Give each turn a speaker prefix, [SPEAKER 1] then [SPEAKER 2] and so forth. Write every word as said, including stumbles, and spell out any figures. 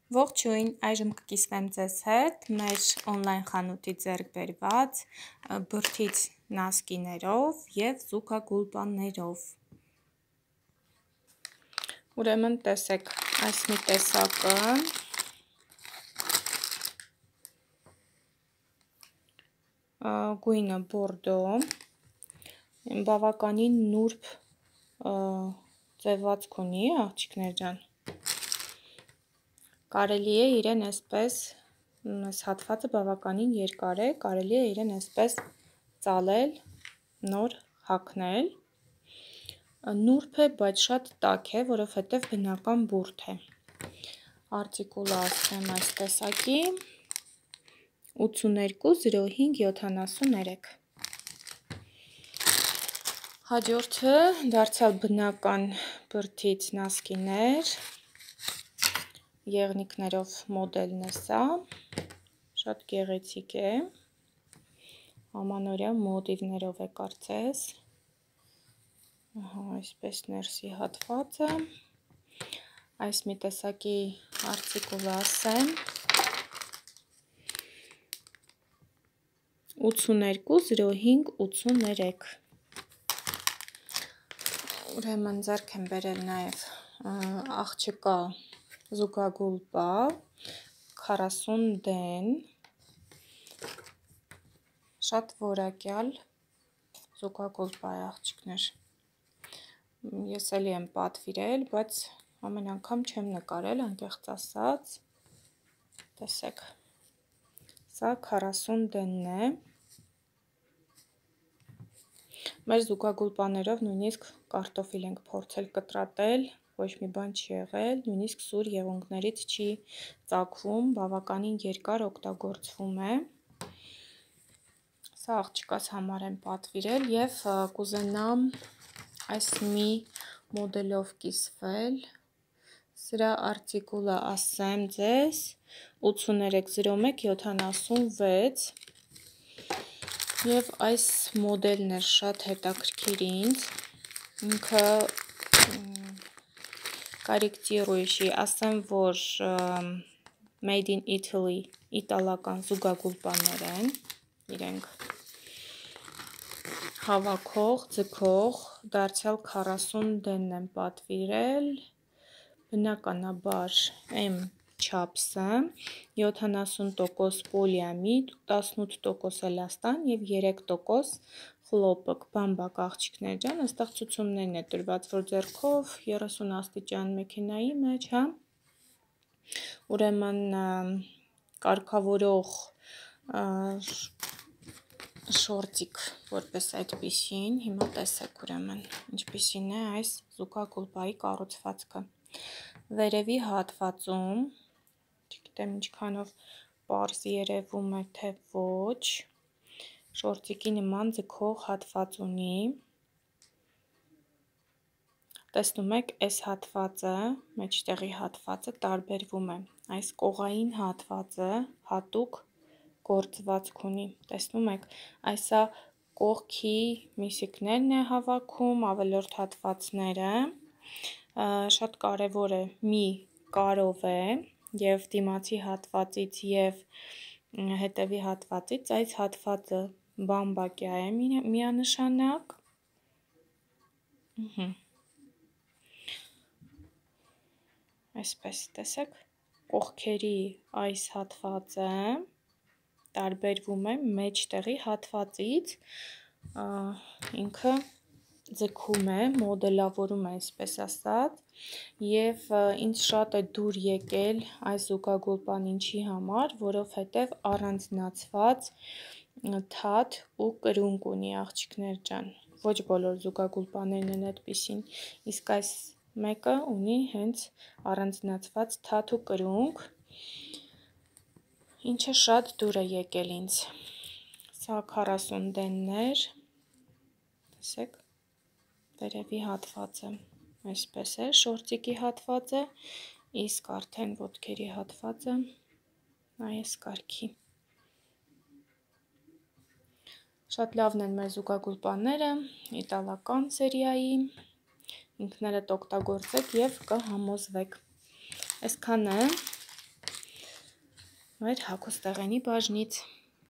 [SPEAKER 1] Ողջույն, այժմ կկիսվեմ ձեզ հետ մեր on-line խանութի ձեռք բերված բրդից նասկիներով և զուգագուլպաններով։ Ուրեմն տեսեք, այս մի տեսակը գույնը բորդո, բավականին նուրբ ձևացք ունի, աղջիկներ ջան։ Կարելի է իրեն այսպես, այս հատվածը բավականին երկար է, կարելի է իրեն այսպես ծալել, նոր հագնել, նուրբ է, բայց շատ տաք է, որովհետև բնական բուրդ է։ Արտիկուլը ասեմ այս տեսակի ութսուներկու զրո հինգ յոթանասուններեք։ Հաջորդը դարձյալ բնական բրդից նասկիներ, եղնիկներով մոդելն է սա, շատ գեղեցիկ է, ամանորյա մոտիվներով է կարծես, այսպես ներսի հատվածը, այս մի տեսակի արտիկուլը ասեմ ութսուներկու զրո հինգ ութսուներեք։ Ուրեմն ձեռք եմ բերել նաև աղջկա զուգագուլպա քառասուն դեն, շատ որակյալ զուգագուլպա է աղջիկներ, ես էլի եմ պատվիրել, բայց ամեն անգամ չեմ նկարել, անկեղծ ասած, տեսեք, սա քառասուն դենն է, մեր զուգագուլպաներով նույնիսկ կարտոֆիլ ենք փորձել կտրատել, ոչ մի բան չի եղել, նույնիսկ սուր եղունգներից չի ծագվում, բավականին երկար օգտագործվում է, սա աղջկաս համար եմ պատվիրել և կուզենամ այս մի մոդելով կիսվել, սրա արտիկուլը ասեմ ձեզ ութսուներեք զրո մեկ յոթանասունվեց և այս մոդելն էր շատ հետաքրքիր ինձ, ինքը կարիքտիրուշի, ասեմ, որ made in Italy, իտալական զուգագուլպաներ են, իրենք հավաքող, ձգող, դարձյալ քառասուն դենն եմ պատվիրել, բնականաբար M չափսը, յոթանասուն տոկոս պոլիամիդ, տասնութ տոկոս էլաստան և երեք տոկոս խլոպիկ, բամբակ աղջիկներ ջան, այստեղ ցուցումներն է տրված, որ ձեռքով երեսուն աստիճան մեքենայի մեջ, հա, ուրեմն կարգավորող շորտիկ, որպես այդպիսին, հիմա տեսեք ուրեմն, ինչպիսին է այս զուգագուլպայի կառուցվածքը, վերևի հատվածում, չգիտեմ ինչքանով պարզ երևում է, թե ոչ, շորտիկի նման ձգող հատված ունի, տեսնում եք, այս հատվածը, մեջտեղի հատվածը տարբերվում է, այս կողային հատվածը հատուկ գործվածք ունի, տեսնում եք, այսա կողքի միսիկներն է հավաքում, ավելորդ հատվածները, շատ կարևոր է, մի կարով է և դիմացի հատվածից և հետևի հատվածից, այս հատվածը բամբակյա է միանշանակ, այսպես տեսեք, կողքերի այս հատվածը տարբերվում է մեջտեղի հատվածից, ինքը ձգում է, մոդելավորում է, այսպես ասած, և ինձ շատ է դուր եկել այս զուգագուլպան ինչի համար, որովհետև առանձնացված թաթ ու կրունկ ունի աղջիկներ ջան, ոչ բոլոր զուգագուլպաներն են այդպիսին, իսկ այս մեկը ունի հենց առանձնացված թաթ ու կրունկ, ինչը շատ դուր է եկել ինձ, սա քառասուն դենն էր, տեսեք, վերևի հատվածը այսպես է, շորտիկի հատվածը, իսկ արդեն ոտքերի հատվածը այս կարգի, շատ լավն են մեր զուգագուլպաները, իտալական սերիայի, ինքներդ օգտագործեք և կհամոզվեք, այսքան է, մեր հագուստեղենի բաժնից։